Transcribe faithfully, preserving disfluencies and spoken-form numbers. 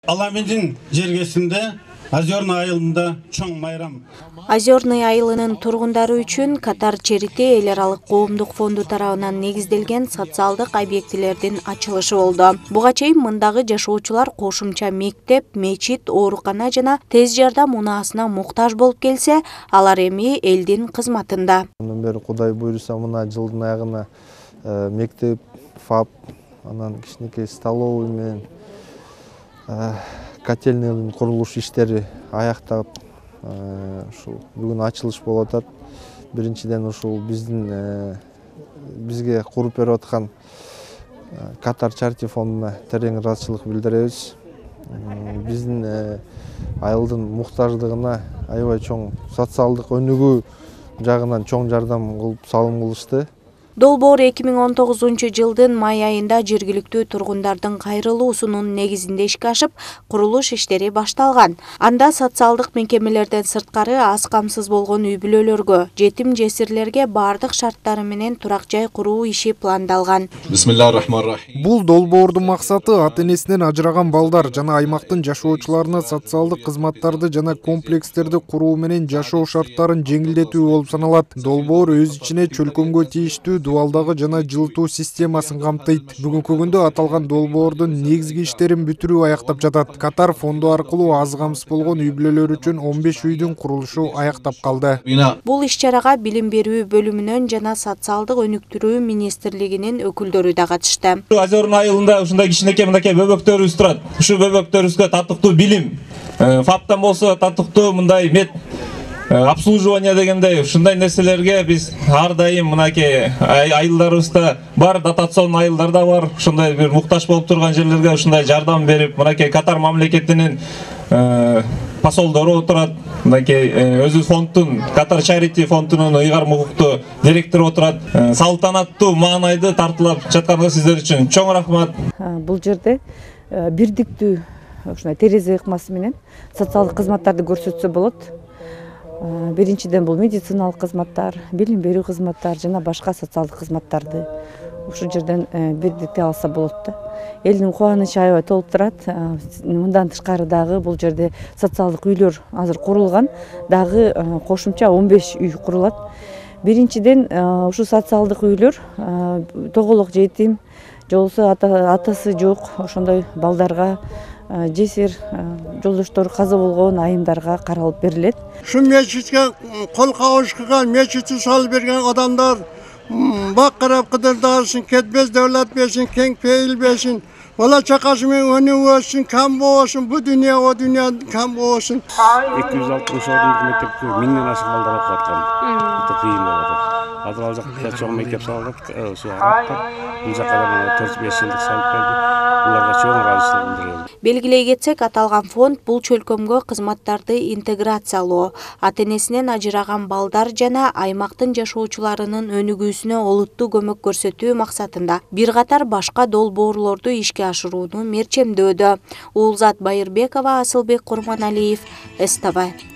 Аламедин жергесинде Озерный айылында чоң майрам. Озерный айылынын тургундары үчүн Катар Черити эл аралык коомдук фонду тарабынан негизделген социалдык объектилердин ачылышы болду. Буга чейин мындагы жашоочулар кошумча мектеп, мечит, оорукана жана тез жардам унаасына муктаж болуп келсе, алар эми элдин кызматында. Андан бери Кудай буйруса мына жылдын аягына мектеп, ФАП, анан кичинекей столовый менен котельныйдын курулуш иштери аяктап, ушул бүгүн ачылыш болуп атат. Биринчиден ушул биздин бизге куруп берип аткан Катар Чарити фондуна терең ыраазычылык билдиребиз. Биздин айылдын муктаждыгына аябай чоң социалдык өнүгүү жагынан чоң жардам кылып салым кылышты. Долбоор эки миң он тогузунчу жылдын май айында жергиликтүү тургундардын кайрылуусунун негизинде ишке ашып, курулуш иштери башталган. Анда социалдык мекемелерден сырткары аз камсыз болгон үй-бүлөлөргө, жетим жесирлерге бардык шарттары менен турак жай куруу иши пландалган. Бисмиллахиррахманиррахим. Бул долбоордун максаты ата-энесинен ажыраган балдар жана аймактын жашоочуларына социалдык кызматтарды жана комплекстерди куруу менен жашоо шарттарын жеңилдетүү болуп саналат. Долбоор өз ичине чөлкөмгө тийиштүү дуалдагы жана жылытуу системасын камтыйт. Бүгүнкү күндө аталган долбоордун негизги иштерин бүтүрүү аяктап жатат. Катар фонду аркылуу аз камсыз болгон үй-бүлөлөр үчүн он беш үйдүн курулушу аяктап калды. Бул иш-чарага билим берүү бөлүмүнөн жана социалдык өнүктүрүү министрлигинин өкүлдөрү да катышты. Озерный айылында ушундай кичинекей мынакей бөбөктөрүбүз турат. Ушу бөбөктөрүбүзгө татыктуу билим, ФАПтан болсо татыктуу мындай мед обслуживание дегендей ушундай нерселерге биз ар дайым мынакей айылдарыбызда бар, дотацион айылдарда бар, ушундай бир муктаж болуп турган жерлерге ушундай жардам берип, мынакей Катар мамлекетинин посолдору отурат, мынакей өзү фонддун Катар Чарити фондунун ыйгарым укуктуу директору отурат. Салтанаттуу маанайды тартуулап жатканга сиздер үчүн чоң рахмат. Бул жерде бирдиктүү ушундай терезе ыкмасы менен социалдык кызматтарды көрсөтсө болот. Биринчиден бул медициналык кызматтар, билим берүү кызматтар жана башка социалдык кызматтарды ушул жерден бирдикте алса болот да. Элдин кубанычы аябай толуп турат. Мындан тышкары дагы бул жерде социалдык үйлөр азыр курулган, дагы кошумча он беш үй курулат. Биринчиден ушул социалдык үйлөр тоголок жетим, же болбосо атасы жок ошондой балдарга, жесир жолдоштор каза болгон айымдарга каралып берилет. Şu meclisке kol kavuşkıgan, meclisi salып берген адамдар бак карап кыдырдасын, кетпес devlet берсин, кең пейил берсин. Бала чакасы менен өнүгүп өссүн, кам болбосун, бу дүйнө, о дүйнө кам болбосун. эки жүз алтымыш ордундук мектепте миңден ашык балдар окуп аткан. Өтө кыйын болуп атат. Азыр ал жакта чоң мектеп салып, ошо араттар бул жака да төрт беш жылдык салып берди. Буларга чоң ыраазычылык билдиребиз. Белгилей кетсек, аталган фонд бул чөлкөмгө кызматтарды интеграциялоо, ата-энесинен ажыраган балдар жана аймактын жашоочуларынын өнүгүүсүнө олуттуу көмөк көрсөтүү максатында бир катар башка долбоорлорду ишке ашырууну мерчемдөөдө. Улзат Байырбекова, Асылбек Курманалиев, СТВ.